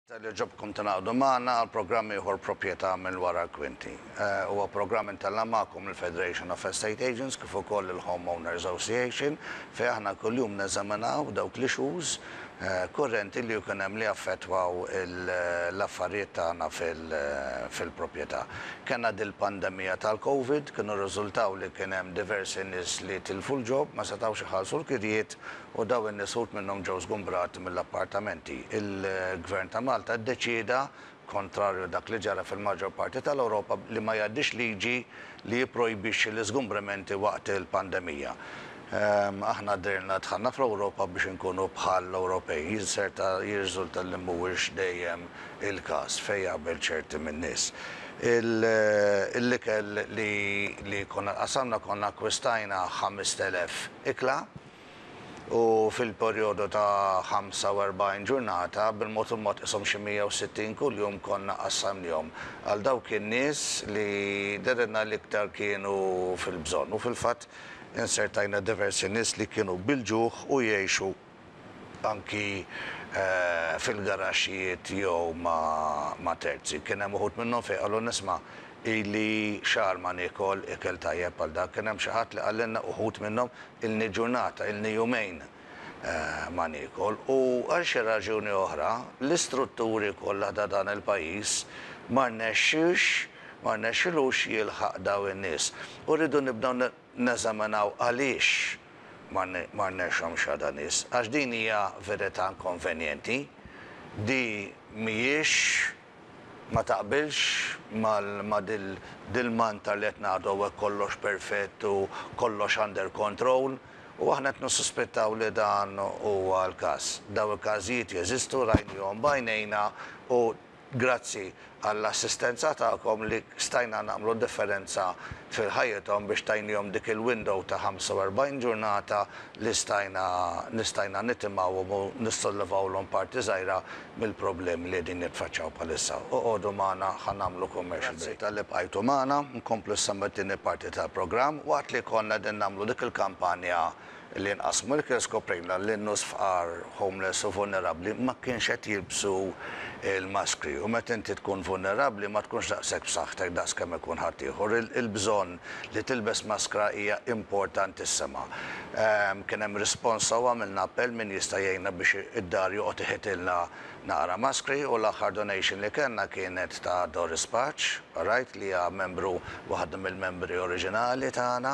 Talli għoġobkom tingħaqdu magħna għal programm ieħor Proprjetà minn wara l-kwinti. Huwa programm intella' magħkom mill-Federation of Estate Agents kif ukoll il-Home Owners Association fejn aħna kuljum neżaminaw dawk l-issues kurrenti li jkun hemm li jaffettwaw l-affarijiet tagħna fil-proprjetà. Kellna dil-pandemija tal-Covid, kienu rriżultaw li kien hemm diversi nies li tilfu l-job, ma setgħux iħallsu l-kirjiet u dawn in-nies uħud minnhom ġew żgumbrati mill-appartamenti. Il-Gvern ta' Malta ddeċieda, kontrarju dak li ġara fil-maġġor parti tal-Ewropa, li ma jgħaddix liġi li jipprojbixxi l-iżgumbramenti waqt il-pandemija. Aħna dehrilna dħalna fl-Ewropa biex inkunu bħall-Ewropej. Jinserta jirriżulta li mhuwiex dejjem il-każ fejn jaqbel ċerti min-nies. Il-ikel li konna qasamna konna akkwistajna 5,000 ikla. u fil-perjodu ta' 45 ġurnata, bil-mod il-mod qishom xi 160 kuljum konna qassamnihom għal dawk in-nies li dehrilna l-iktar kienu fil-bżonn. U fil-fatt insertajna diversi nies li kienu bil-ġuħ u jgħixu anki fil-garaxxijiet jew ma' terzi. Kien hemm uħud minnhom fejn qalulna isma' ili xahar ma niekol ikel tajjeb bħal dak. Kien hemm xi ħadd li qalilna uħud minnhom Ilni ġurnata, ilni jumejn ma niekol u għal xi raġuni oħra l-istrutturi kollha ta' dan il-pajjiż ma rnexxiex, ma rnexxilux jilħaq dawn in-nies. U rridu nibdew neżaminaw għaliex ma rnexxhomx għada nies. Għax din hija verità inkonvenjenti, di mhijiex ma taqbilx ma' dil-mantra li qed ngħidu hawnhekk kollox perfett u kollox under control u aħna qed nissuspettaw li dan huwa l-każ. Dawn il-każijiet jeżistu, rajnihom b'għajnejna u grazzi għall-assistenza tagħkom li stajna nagħmlu differenza fil-ħajjithom biex tajnihom dik il-window ta' 45 ġurnata li stajna li stajna nitimgħuhom u nissollevawlhom parti żgħira mill-problemi li qegħdin jitfaċċaw bħalissa. Oqogħdu magħna ħa nagħmlu commercial break. Grazzi talli bqajtu magħna. Nkomplu issa mit-tieni parti tal-programm. Waqt li konna qegħdin nagħmlu dik il-kampanja li nqassmu l-ikel skoprejna li n-nus fqar, homeless u vulnerabbli ma kienx qed jilbsu l-maskri. U meta inti tkun vulnerabbli ma tkunx daqshekk b'saħħtek daqs kemm ikun ħaddieħor. Il-bżonn li tilbes maskra hija importantissima. Kien hemm rispons sew għamilna appell min jista' jgħinna biex id-dar joqgħod iħitilna naqra maskri u l-aħħar donation li kellna kienet ta' Doris Pace, alright, li hija membru waħda mill-membri oriġinali tagħna.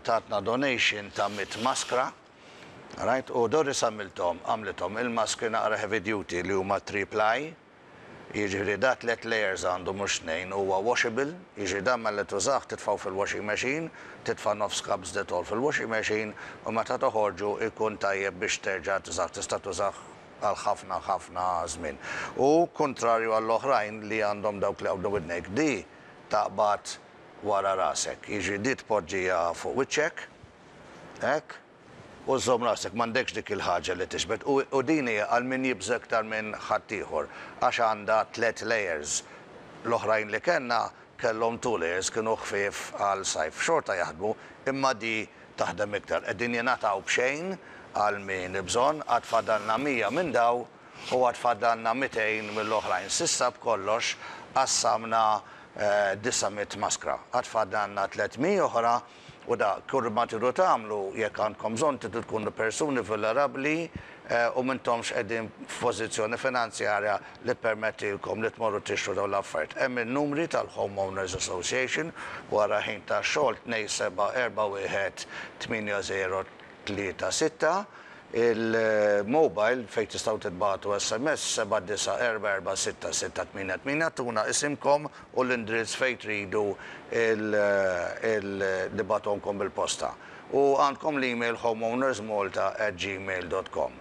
Tatna donation ta' 100 maskra, alright, u Doris għamilthom għamlithom il-maskri naqra heavy duty li huma 3 ply. Jiġifieri da tlett layers għandu mhux tnejn, huwa washable, jiġifieri dan malli tużah titfgħu fil-washing machine, titfa' nofs cups Dettol fil-washing machine u meta toħorġu jkun tajjeb biex terġa' tużah, tista' tużah għal ħafna ħafna żmien. U kuntrarju għall-oħrajn li għandhom dawk li jaqbdu widnejk, di taqbad wara rasek, jiġifieri di tpoġġiha fuq wiċċek, hekk, U żżomm rasek, m'għandekx dik il-ħaġa li tixbet. U din hija għal min jibża' iktar minn ħaddieħor, għax għandha tlett layers. L-oħrajn li kellna kellhom two layers, kienu ħfief għal sajf. Xorta jaħdmu, imma di taħdem iktar. Qegħdin jingħataw b'xejn għal min bżonn, għad fadalna 100 minn daw u għad fadalna 200 mill-oħrajn. S'issa b'kollox qassamna 900 maskra. Għad fadalna 300 oħra U da kull ma tridu tagħmlu jekk għandkom bżonn tridu tkunu persuni vulnerabbli u m'intomx qegħdin f'pożizzjoni finanzjarja li ppermettilkom li tmorru tixtru dawn l-affarijiet. Hemm in-numri tal-Home Owners Association wara ħin tax-xogħol 2741 8036. Il-mobile fejn tistgħu titbagħtu SMS 79446688 tuna isimkom u l-indrizz fejn tridu nibgħatuhomkom bil-posta. U għandkom l-email homeownersmalta@gmail.com.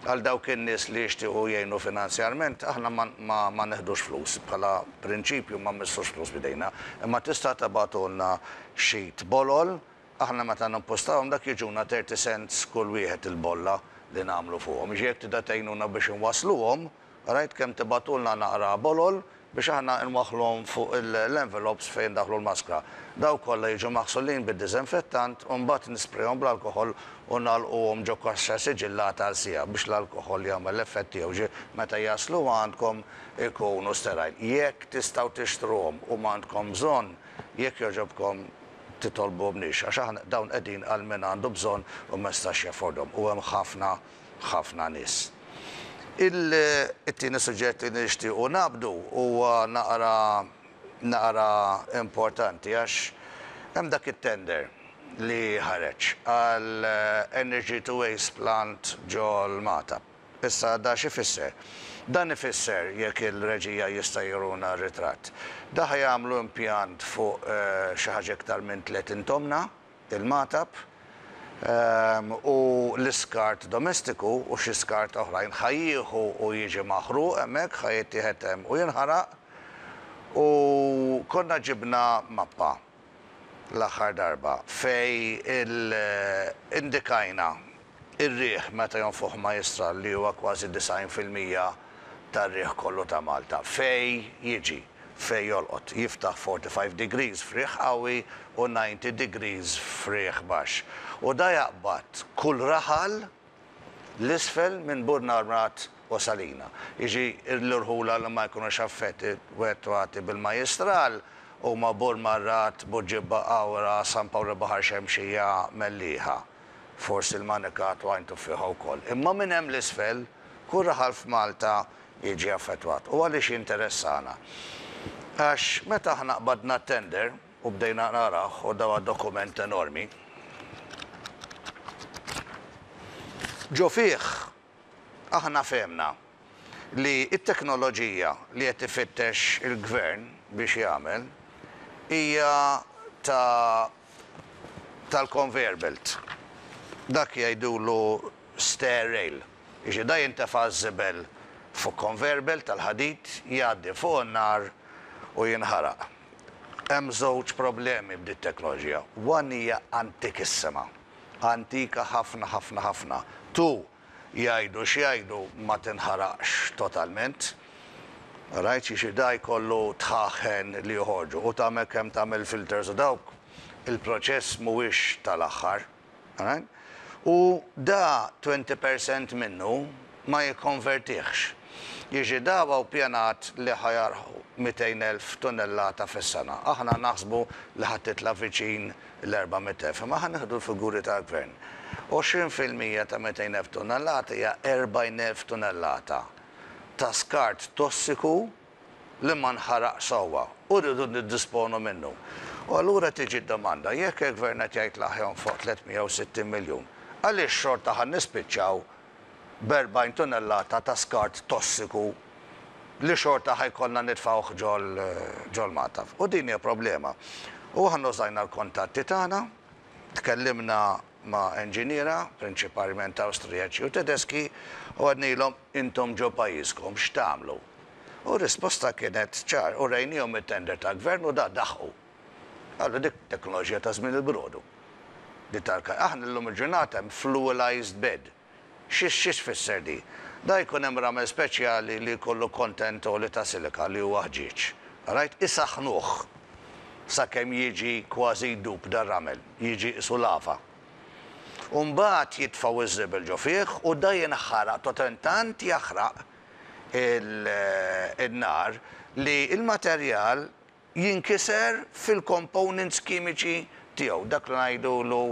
Għal dawk in-nies li jixtiequ jgħinu finanzjarment, aħna ma neħdux flus, bħala prinċipju ma mmissux flus b'idejna, imma tista' tibgħatulna sheet bolol Aħna meta nimpostawhom dak jiġuna 30 cents kull wieħed il-bolla li nagħmlu fuqhom. Jiġifieri jekk tibda tgħinuna biex inwassluhom, rajt kemm tibagħtulna naqra bolol, biex aħna nwaħħluhom fuq l-envelopes fejn ndaħħlu l-maskra. Dawk kollha jiġu maħsulin bid-diżinfettant u mbagħad nisprejhom bl-alkoħol u nagħlquhom ġo kaxxa siġillata għal siegħa biex l-alkoħol jagħmel l-effett tiegħu ġi meta jaslu għandkom ikunu sterile. Jekk tistgħu tixtruhom u m'għandkom bżonn, jekk jogħġobkom titolbuhomniex għax aħna dawn qegħdin għal min għandu bżonn u ma jistax jaffordhom u hemm ħafna ħafna nies. Il-tieni suġġett li nixtiequ naqbdu huwa naqra naqra importanti għax hemm dak it-tender li ħareġ għal energy to waste plant ġol-Magħtab. Issa da x'ifisser? Dan ifisser, jekk il-reġija jista' juruna r-ritratt, da ħa jagħmlu impjant fuq xi ħaġa iktar minn 30 tomna, il-Magħtab, u l-iskart domestiku u xi skart oħrajn ħa jieħu u jiġi maħruq hemmhekk, ħa jittieħed hemm u jinħaraq. U konna ġibna mappa l-aħħar darba fejn indikajna ir-riħ meta jonfoħ majjistral li huwa kważi 90% tar-riħ kollu ta' Malta, fejn jiġi, fejn jolqot, jiftaħ 45 degrees f'riħ qawwi u 90 degrees f'riħ baxx. U da jaqbad kull raħal 'l isfel minn Burnarmrat u Salina. Jiġi l-irħula li ma jkunux affettwati bil-majjistral huma Burmarrad, Buġibba, Qawra, San Pawl il-Baħar Xemxija, Mellieħa. Forsi l-Manikat u Għajn Tuffieħa wkoll. Imma minn hemm 'l isfel, kull raħal f'Malta jiġi affettwat. U għaliex jinteressana? Għax meta aħna qbadna t-tender u bdejna narawh, u dawa dokument enormi, ġo fih aħna fehmna li t-teknoloġija li qed ifittex il-Gvern biex jagħmel hija ta' tal-conveyor belt. Dak jgħidulu stair rail. Jiġifieri da jintefa' ż-żibel fuq conveyor belt tal-ħadid, jgħaddi fuq in-nar u jinħaraq. Hemm żewġ problemi b'dit-teknoloġija. One hija antikissima. Antika ħafna ħafna ħafna. Two, jgħidu x'jgħidu ma tinħaraqx totalment. Rajt xi da jkollu dħaħen li joħorġu u tagħmel kemm tagħmel filters u dawk il-proċess mhuwiex tal-aħħar. Alright? U da 20% minnu ma jikkonvertihx. Jiġi da huwa ppjanat li ħa jarħu 200,000 tunnellata fis-sena. Aħna naħsbu li ħa titla' viċin l-400,000, imma ħa nieħdu l-figuri tal-Gvern. 20% ta' 200,000 tunnellata hija 40,000 tunnellata ta' skart tossiku li ma nħaraqx sewwa u rridu niddisponu minnu. U allura tiġi d-domanda, jekk il-Gvern qed jgħid li ħa jonfoq 360 miljun, għaliex xorta ħa nispiċċaw b'40 tunnellata ta' skart tossiku li xorta ħa jkollna nitfgħuh ġol-magħtaf? U din hija problema. U aħna użajna l-kuntatti tagħna, tkellimna ma' enġiniera, prinċipalment Awstrijaċi u Tedeski, u għednilhom intom ġo pajjiżkom x'tagħmlu? U r-risposta kienet ċar, u rejniehom it-tender tal-Gvern u da daħqu. Qalu dik teknoloġija ta' żmien il-brodu. Di tal Aħna llum il-ġurnata hemm fluelized bed. Xi xi tfisser di? Da jkun hemm ramel speċjali li jkollu content għoli ta' silika li huwa ħġieġ. Right? Isaħħnuh sakemm jiġi kważi jdub dar-ramel, jiġi qisu lava. U mbagħad jitfgħu ż-żibel ġo fih u da jinħaraq totalment tant jaħraq il-nar li l-materjal jinkiser fil-components kimiċi tiegħu, dak li ngħidulu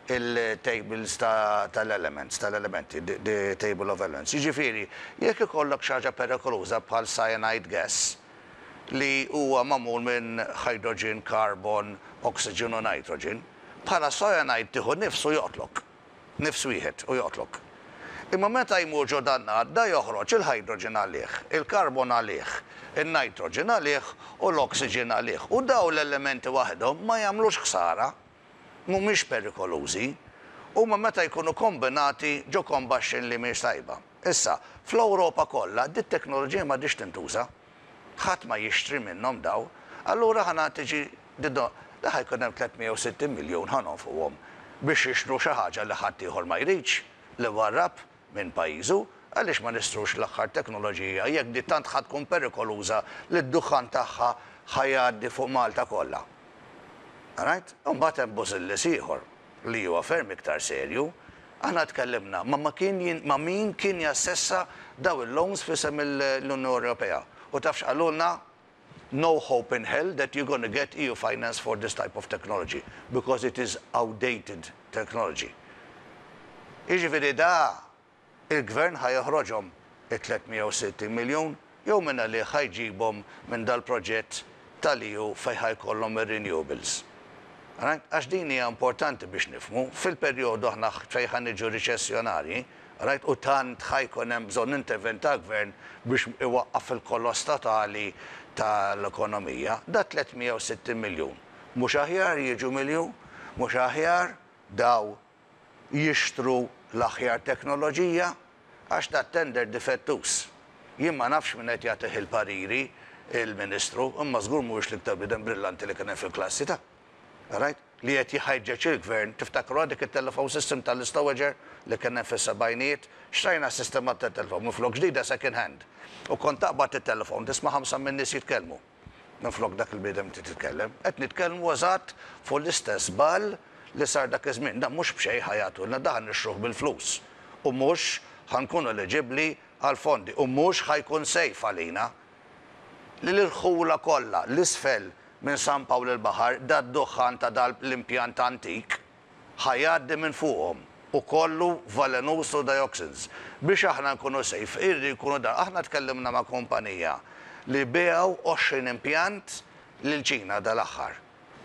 il-tables tal-elements, tal-elementi, the table of elements. Jiġifieri, jekk ikollok xi ħaġa perikoluża bħal cyanide gas, li huwa magħmul minn hydrogen, carbon, oxygen u nitrogen, bħala cyanide tieħu nifs u joqtlok. Nifs wieħed u joqtlok. Imma meta jmur ġo dan nar, da joħroġ il-hydrogen għalih, il-carbon għalih, in-nitrogen għalih u l-oxygen għalih. U dawn l-elementi waħedhom ma jagħmlux ħsara, mhumiex perikolużi. Huma meta jkunu kombinati ġo combustion li mhix tajba. Issa, fl-Ewropa kollha dit-teknoloġija m'għadhiex tintuża. Ħadd ma jixtri minnhom daw. Allura ħa tiġi da ħa jkun hemm 360 miljun ħa nonfquhom biex jixtru xi ħaġa li ħadd ieħor ma jridx li warrab minn pajjiżu. Għaliex ma nixtrux l-aħħar teknoloġija jekk di tant ħa tkun perikoluża li d-duħħan tagħha ħa jgħaddi fuq Malta kollha? Alright? Imbagħad hemm bużillis ieħor li huwa ferm iktar serju. Aħna tkellimna ma' ma kien ma' min kien jassessa daw il-loans f'isem l-Unjoni Ewropea. U taf x'qalulna? No hope in hell that you're gonna get EU finance for this type of technology because it is outdated technology. Jiġifieri da il-Gvern ħa joħroġhom it-360 miljun jew mingħalih ħa jġibhom minn dal-proġett tal-EU fejn ħa jkollhom ir-renewables? Right? Għax din hija importanti biex nifhmu, fil-perjodu aħna fejn ħa niġu riċessjonarji, right, u tant ħa jkun hemm bżonn intervent tal-Gvern biex iwaqqaf il-koloss totali tal-ekonomija, da 360 miljun mhux aħjar jiġu mill-EU? Mhux aħjar daw jixtru l-aħjar teknoloġija? Għax dat tender difettuż. Jien ma nafx min qed jagħtih il-pariri, il-Ministru, imma żgur mhuwiex l-iktar bniedem brillanti li kien hemm fil-klassi ta'. Alright? Li qed jħeġġeġ il-Gvern, tiftakruha dik it-telephone system tal-istowager li kien hemm fis-sebgħinijiet? Xtrajna s-sistema tat-telephone minflok ġdida second hand. U kont taqbad it-telephone tisma' ħamsa min-nies jitkellmu. Minflok dak il-bniedem li titkellem. Qed nitkellmu eżatt fuq l-istess żball li sar dak iż-żmien. Dan mhux b'xejn ħa jagħtulna, dan ħa nixtruh bil-flus. U mhux ħa nkunu eliġibbli għall-fondi. U mhux ħa jkun safe għalina. Li l-irħula kollha 'l isfel minn San Pawl il-Baħar, dad-duħħan ta' dal l-impjant antik, ħa jgħaddi minn fuqhom u kollu valenuż u dioxins. Biex aħna nkunu safe irridu jkunu dan. Aħna tkellimna ma' kumpanija li biegħu 20 impjant lil Ċina dal-aħħar.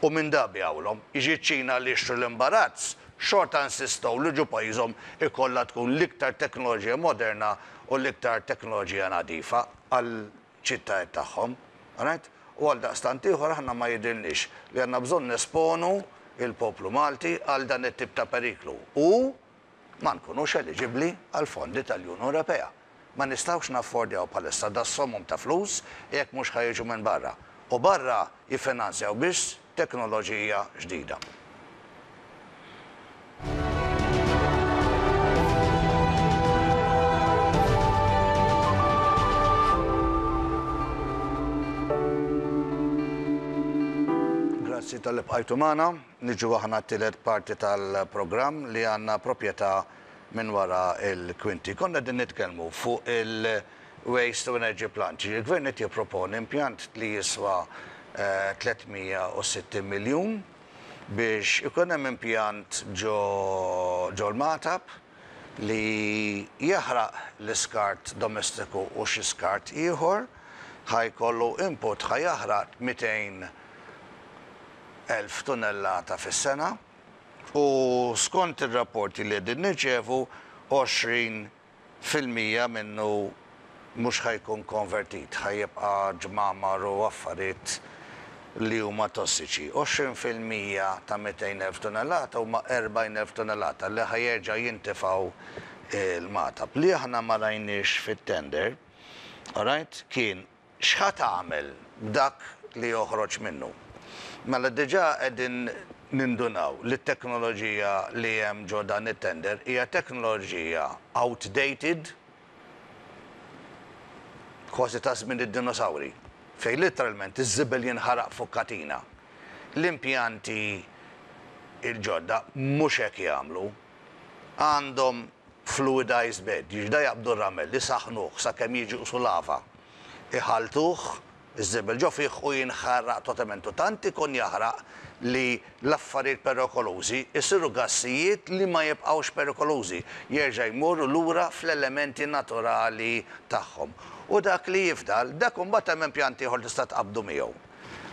U minn da biegħulhom. Jiġi ċ-Ċina li jixtru l-imbarazz, xorta insistow li ġo pajjiżhom ikollha tkun l-iktar teknoloġija moderna u l-iktar teknoloġija nadifa għal ċittajiet tagħhom. Alright? U għaldaqstant ieħor aħna ma jidhirlniex li għandna bżonn nesponu l-poplu Malti għal dan it-tip ta' periklu u ma nkunux eliġibbli għall-fondi tal-Unjoni Ewropea. Ma nistgħux naffordjaw bħalissa das-somom ta' flus jekk mhux ħa jiġu minn barra. U barra jiffinanzjaw biss teknoloġija ġdida. Grazzi talli bqajtu magħna. Niġu aħna t-tielet parti tal-programm li għandna proprjetà minn wara l-kwinti. Konna qegħdin nitkellmu fuq il-waste to energy plant. Il-gvern qed jipproponi impjant li jiswa 360 miljun biex ikun hemm impjant ġo ġol-Magħtab li jaħraq l-iskart domestiku u xi skart ieħor, ħa jkollu input ħa jaħraq 200,000 tunellata fis-sena u skont ir-rapporti li qegħdin nirċievu 20 fil-'mija minnu mhux ħa jkun konvertit, ħa jibqa' ġmamar u affarijiet li huma tossiċi. 20% ta' 200,000 tunellata huma 40,000 tunellata li ħa jerġa' jintifgħu l-Magħtab. Li aħna ma rajniex fit-tender, alright, kien X'ħa tagħmel b'dak li joħroġ minnu? Mela diġà qegħdin nindunaw li t-teknoloġija li hemm ġo dan it-tender hija teknoloġija outdated, kważi ta' żmien id-dinosawri, fejn litteralment iż-żibel jinħaraq fuq katina. L-impjanti l-ġodda mhux hekk jagħmlu. Għandhom fluidized bed, jiġifieri da jaqbdu r-ramel, isaħħnuh sakemm jiġi qisu lava, iħalltuh, iż-żibel ġo fih u jinħaraq totalment u tant ikun jaħraq li l-affarijiet perikolużi jsiru gassijiet li ma jibqgħux perikolużi, jerġa' jmorru lura fl-elementi naturali tagħhom. U dak li jifdal, dak imbagħad hemm impjant ieħor tista' tqabbdu miegħu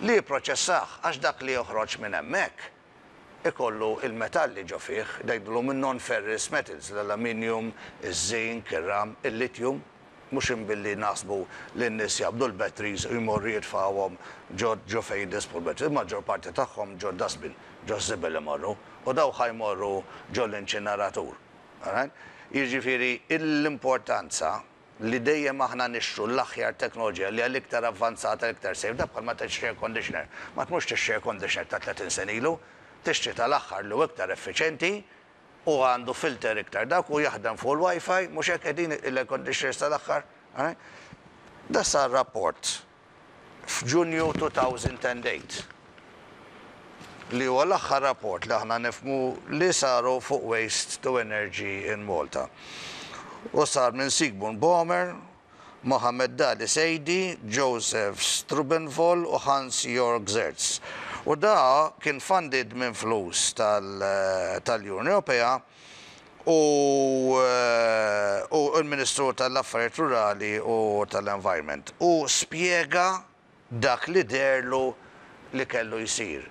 li jipproċessah għax dak li joħroġ minn hemmhekk ikollu il-metalli ġo fih, ngħidulhom in-non-ferrous metals, l-aluminium, iż-zinc, ir-ram, il-lithium, mhux imbilli naħsbu li n-nies jaqbdu l-batteries u jmorru jitfgħuhom ġo ġo fejn jidispu l-batteries, il-maġġor parti tagħhom ġo dustbin, ġo żibel imorru, u dawk ħa jmorru ġo l-inċineratur. Alright? Jiġifieri l-importanza li dejjem aħna nixtru l-aħjar teknoloġija li hija l-iktar avvanzata, l-iktar safe, dak bħal ma tixtri air conditioner. Ma tmurx tixtri air conditioner ta' 30 sena ilu, tixtri tal-aħħar li hu iktar effiċjenti. u għandu filter iktar dak u jaħdem fuq il-Wi-Fi, mhux hekk qegħdin il-air conditioners tal-aħħar. Da sar rapport f'Ġunju 2008 li huwa l-aħħar rapport li aħna nifhmu li saru fuq Waste to Energy in Malta. U sar minn Sigmund Bohmer, Mohamed Dali Seidi, Joseph Strubenvoll u Hans Jörg Zerz. U da kien funded minn flus tal-Unjoni Ewropea u l-Ministru tal-Affarijiet Rurali u tal-Environment u spjega dak li deherlu li kellu jsir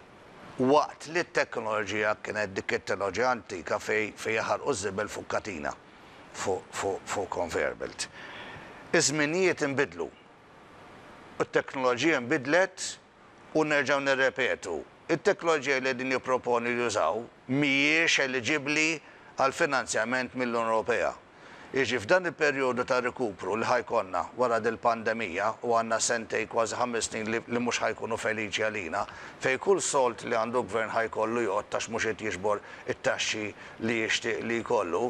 waqt li t-teknoloġija kienet dik it-teknoloġija antika fejn jaħarqu ż-żibel fuq katina, fuq conveyor belt. Iż-żminijiet inbidlu u t-teknoloġija nbidlet u nerġgħu nirrepetu, it-teknoloġija li qegħdin jipproponu jużaw mhijiex eliġibbli għal finanzjament mill-Unjoni Ewropea. Jiġi f'dan il-perjodu ta' rikupru li ħa jkollna wara dil-pandemija u għandna sentejn kważi ħames snin li li mhux ħa jkunu feliċi għalina, fejn kull sold li għandu gvern ħa jkollu jgħodd għax mhux qed jiġbor it-taxxi li jixtieq li jkollu,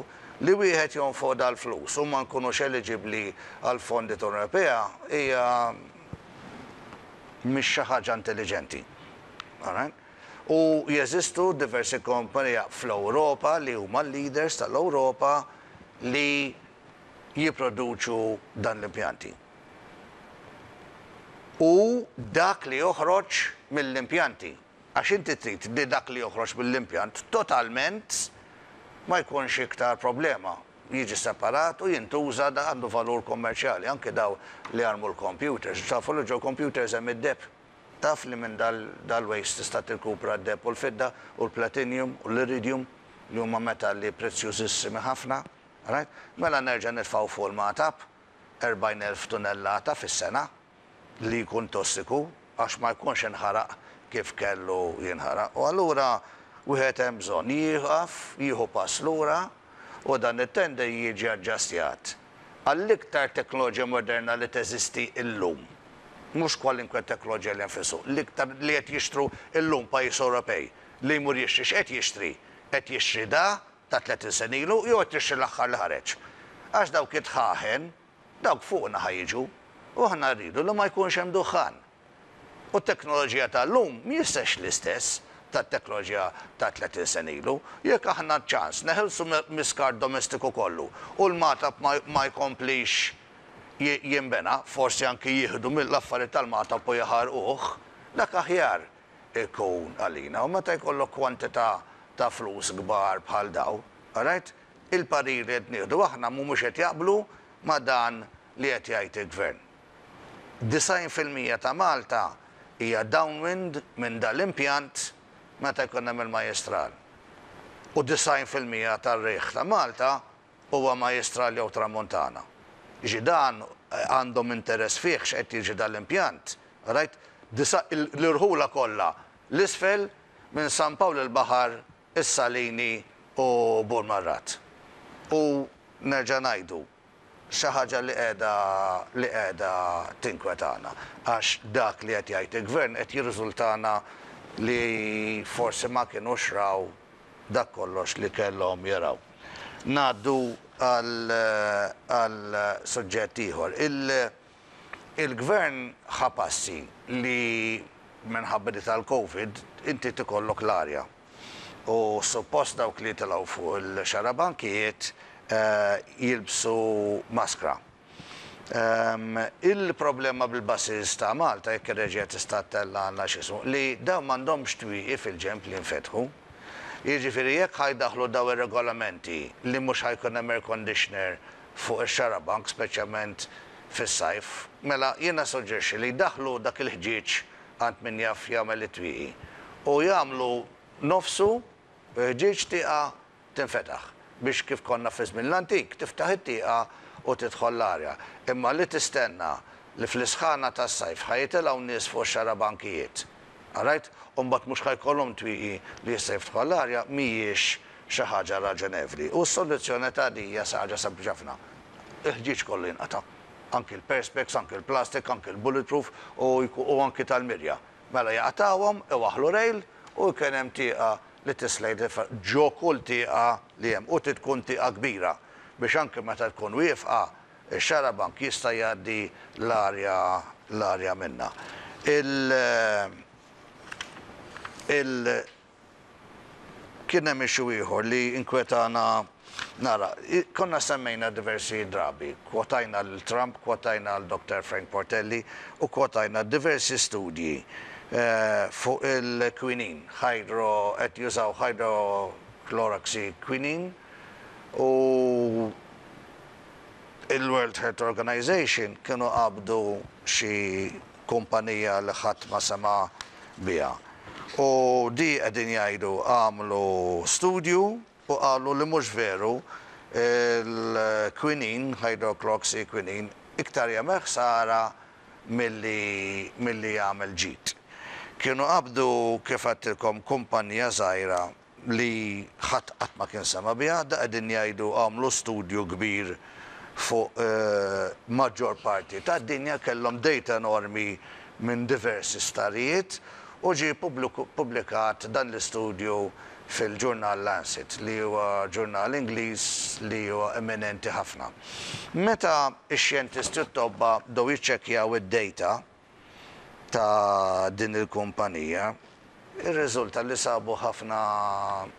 li wieħed jonfoq dal-flus u ma nkunux eliġibbli għall-fondi tal-Unjoni Ewropea hija mhix xi ħaġa intelliġenti. All right? U jeżistu diversi kompanija fl-Ewropa li huma l-leaders tal-Ewropa li jipproduċu dan l-impjanti. U dak li joħroġ mill-impjanti, għax inti trid li dak li joħroġ mill-impjant totalment ma jkunx iktar problema, jiġi separat u jintuża da għandu valur kommerċjali, anke daw li jarmu l-computers, tafu li ġo computers hemm id-deheb. Taf li minn dal-waste tista' tirkupra d-deheb u l-fidda u l-platinum u l-iridium li huma metalli prezzjużissimi ħafna, right? Mela nerġa' nitfgħu fuq il-magħtab 40,000 tunellata fis-sena li jkun tossiku għax ma jkunx inħaraq kif kellu jinħaraq. U allura wieħed hemm bżonn jieqaf, jieħu pass lura u dan it-tender jiġi aġġastjat għall-iktar teknoloġija moderna li teżisti llum. Mhux kwalinkwe teknoloġija li hemm fis-suq, l-iktar li qed jixtru llum pajjiż Ewropej li jmur jixtri x'qed jixtri? Qed jixtri da ta' 30 sena ilu jew qed jixtri l-aħħar li ħareġ? Għax dawk it-dħaħen, dawk fuqna ħa jiġu u aħna rridu li ma jkunx hemm duħħan. U t-teknoloġija tal-lum mhijiex l-istess tat-teknoloġija ta' 30 sena ilu. Jekk aħna ċans neħilsu mill-iskart domestiku kollu u l-Magħtab ma jkomplix jinbena, forsi anki jieħdu mill-affarijiet tal-Magħtab u jaħarquh, dak aħjar ikun għalina. U meta jkollok kwantità ta' flus kbar bħal daw, alright, il-pariri li qed nieħdu aħna mhumiex qed jaqblu ma' dan li qed jgħid il-Gvern. 90% ta' Malta hija downwind minn dal-impjant meta jkun hemm il-majjistral. U 90% tar-riħ ta' Malta huwa majjistral jew tramuntana. Jiġi dan għandhom interess fih x'qed jiġi dal-impjant, right? L-irħula kollha l-isfel minn San Pawl il-Baħar, is-Salini u Burmarrad. U nerġa' ngħidu, xi ħaġa li qiegħda li qiegħda tinkwetana għax dak li qed jgħid il-Gvern qed jirriżultana li forsi ma kinux raw dak kollox li kellhom jaraw. Ngħaddu għal għal suġġett ieħor. Il-Gvern ħa passi li minħabba di tal-Covid inti tikollok l-arja. U suppost dawk li jitilgħu fuq il-xarabankijiet jilbsu maskra. Il-problema bil-buses ta' Malta, jekk ir-reġija tista' ttellgħalna x'ismu, li dawn m'għandhomx twieqi fil-ġenb li jinfetħu. Jiġifieri jekk ħa jdaħħlu dawn ir-regolamenti li mhux ħa jkun hemm air conditioner fuq ix-xarabank speċjalment fis-sajf, mela jiena suġġerixxi li jdaħħlu dak il-ħġieġ għand min jaf jagħmel it-twieqi u jagħmlu nofsu ħġieġ tieqa tinfetaħ biex kif konna fi żmien l-antik tiftaħ it-tieqa u tidħol l-arja. Imma li tistenna li fl-isħana tas-sajf ħa jitilgħu nies fuq ix-xarabankijiet, alright, u mbagħad mhux ħa jkollhom twieqi li jista' jiftħu għall-arja mhijiex xi ħaġa raġonevli. U s-soluzzjoni ta' di hija xi ħaġa sempliċi ħafna. Il-ħġieġ kollu jinqata'. Anki l-perspex, anki l-plastic, anki l-bulletproof u anki tal-mirja. Mela jaqtgħuhom, iwaħħlu rail u jkun hemm tieqa. li tislejt ġo kull tieqa li hemm u trid tkun tieqa kbira biex anke meta tkun wieqfa ix-xarabank jista' jgħaddi l-arja l-arja minnha. Il il Kien hemm issue ieħor li inkwetana nara. Konna semmejna diversi drabi, kwotajna lil Trump, kwotajna lil Doctor Frank Portelli u kwotajna diversi studji fuq il-quinine, hydro, qed jużaw hydrochloroxyquinine u il-World Health Organization kienu qabdu xi kumpanija li ħadd ma sema' biha. U di qegħdin jgħidu għamlu studju u qalu li mhux veru il-quinine, hydrochloroxyquinine, iktar jagħmel ħsara milli milli jagħmel ġid. Kienu qabdu kif għedtilkom kumpanija żgħira li ħadd qatt ma kien sema' biha, da qegħdin jgħidu għamlu studju kbir fuq maġġor parti tad-dinja, kellhom data enormi minn diversi sptarijiet u ġie ppubblikat dan l-istudju fil-ġurnal Lancet li huwa ġurnal Ingliż li huwa eminenti ħafna. Meta x-xjentisti u t-tobba bdew jiċċekkjaw id-data ta' din il-kumpanija, irriżulta li sabu ħafna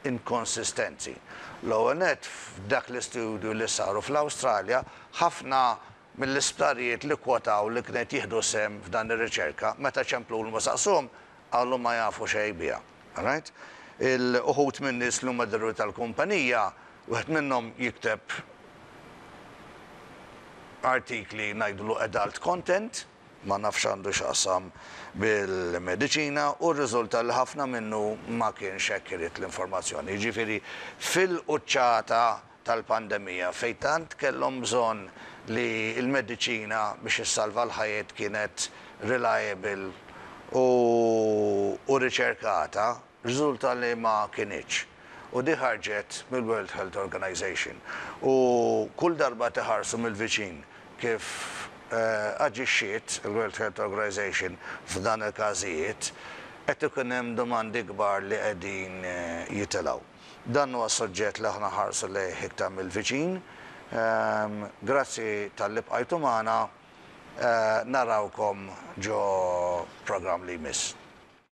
inkonsistenzi. L-ewwel nett, f'dak l-istudju li saru fl-Awstralja, ħafna mill-isptarijiet li kkwotaw li kien qed jieħdu sehem f'dan ir-riċerka, meta ċemplulhom u saqsuhom, qalu ma jafu xejn biha. Alright? Il-uħud min-nies li huma diretturi tal-kumpanija, wieħed minnhom jikteb artikli ngħidulu adult content, ma nafx għandu x'qasam bil-mediċina u rriżulta li ħafna minnu ma kienx accurate l-informazzjoni. Jiġifieri fil-quċċata tal-pandemija fejn tant kellhom bżonn li l-mediċina biex issalva l-ħajjiet kienet reliable u u riċerkata, Riżulta li ma kinitx. U di ħarġet mill-World Health Organization. U kull darba tiħarsu mill-viċin kif aġixxiet il-World Health Organization f'dan il-każijiet, qed ikun hemm domandi kbar li qegħdin jitilgħu. Dan huwa suġġett li aħna nħarsu lejh iktar mill-viċin. Grazzi talli bqajtu magħna. Narawkom ġo programm li jmiss.